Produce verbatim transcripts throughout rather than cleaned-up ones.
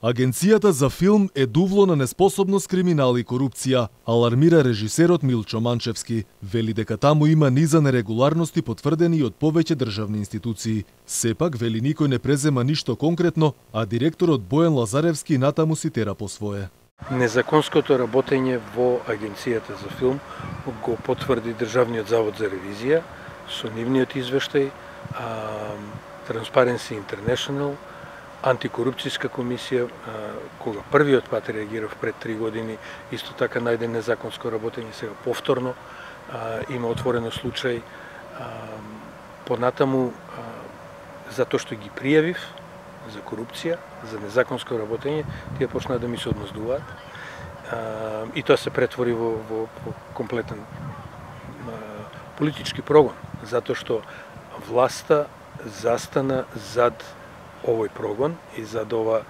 Агенцијата за филм е дувло на неспособност, криминал и корупција, алармира режисерот Милчо Манчевски. Вели дека таму има низа нерегуларности потврдени од повеќе државни институции. Сепак, вели, никој не презема ништо конкретно, а директорот Бојан Лазаревски натаму си тера по свое. Незаконското работење во Агенцијата за филм го потврди Државниот завод за ревизија со нивниот извештај, Transparency International, Антикорупцијска комисија, кога првиот пат реагирав пред три години, исто така најде незаконско работење, сега повторно има отворено случај. Понатаму, затоа што ги пријавив за корупција, за незаконско работење, тие почнаа да ми се одмаздуваат. И тоа се претвори во, во, во комплетен политички прогон, затоа што власта застана зад овој прогон и зад ова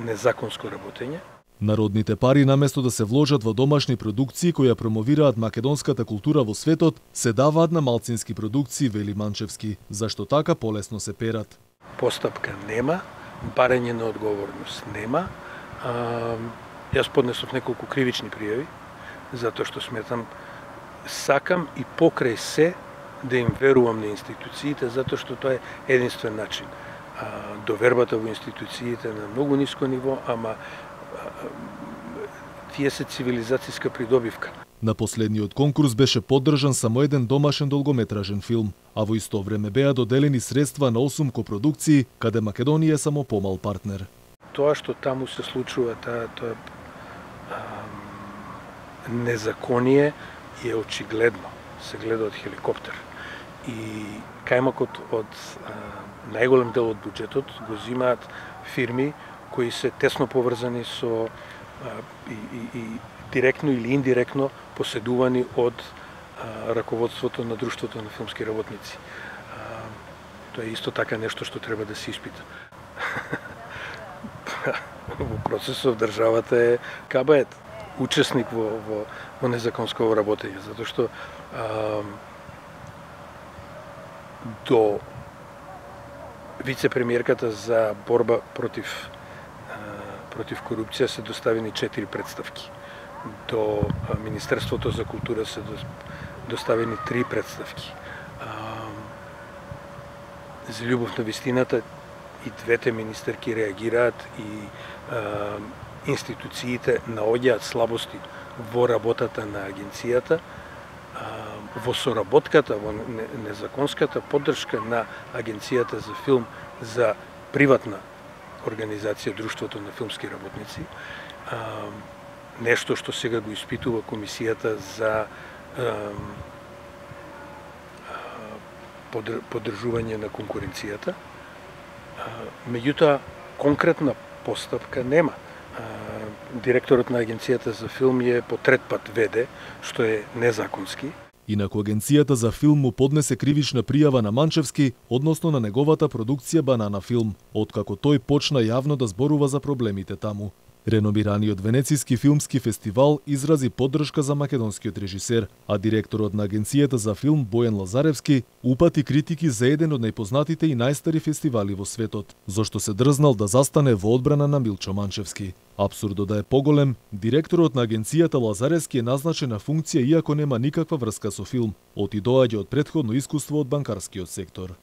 незаконско работење. Народните пари, наместо да се вложат во домашни продукции кои ја промовираат македонската култура во светот, се даваат на малцински продукции, вели Манчевски, зашто така полесно се перат. Постапка нема, барање на одговорност нема. А, јас поднесов неколку кривични пријави, затоа што сметам, сакам и покрај се да им верувам на институциите, затоа што тоа е единствен начин. Довербата во институциите на многу ниско ниво, ама тие се цивилизацијска придобивка. На последниот конкурс беше поддржан само еден домашен долгометражен филм, а во исто време беа доделени средства на осум копродукции, каде Македонија е само помал партнер. Тоа што таму се случува, тоа, тоа незаконие е очигледно, се гледа од хеликоптер. И кајмакот од а, најголем дел од буџетот го зимаат фирми кои се тесно поврзани со а, и, и, и директно или индиректно поседувани од а, раководството на Друштвото на филмски работници. А, тоа е исто така нешто што треба да се испита. Во процесот државата е кабает, учесник во, во, во незаконско работење, затоа што а, до вице-премиерката за борба против против корупција се доставени четири представки. До Министерството за култура се доставени три представки. За љубов на вистината и двете министерки реагираат и институциите наоѓаат слабости во работата на агенцијата, во соработката, во незаконската поддршка на Агенцијата за филм за приватна организација Друштвото на филмски работници, нешто што сега го испитува Комисијата за поддржување на конкуренцијата. Меѓутоа, конкретна постапка нема. Директорот на Агенцијата за филм е по трет пат веде, што е незаконски. Инаку Агенцијата за филм му поднесе кривична пријава на Манчевски односно на неговата продукција Банана филм, откако тој почна јавно да зборува за проблемите таму. Реномираниот Венецијски филмски фестивал изрази поддршка за македонскиот режисер, а директорот на Агенцијата за филм Бојан Лазаревски упати критики за еден од најпознатите и најстари фестивали во светот, зашто се дрзнал да застане во одбрана на Милчо Манчевски. Апсурдо да е поголем, директорот на Агенцијата Лазаревски е назначен на функција иако нема никаква врска со филм, оти доаѓа од претходно искуство од банкарскиот сектор.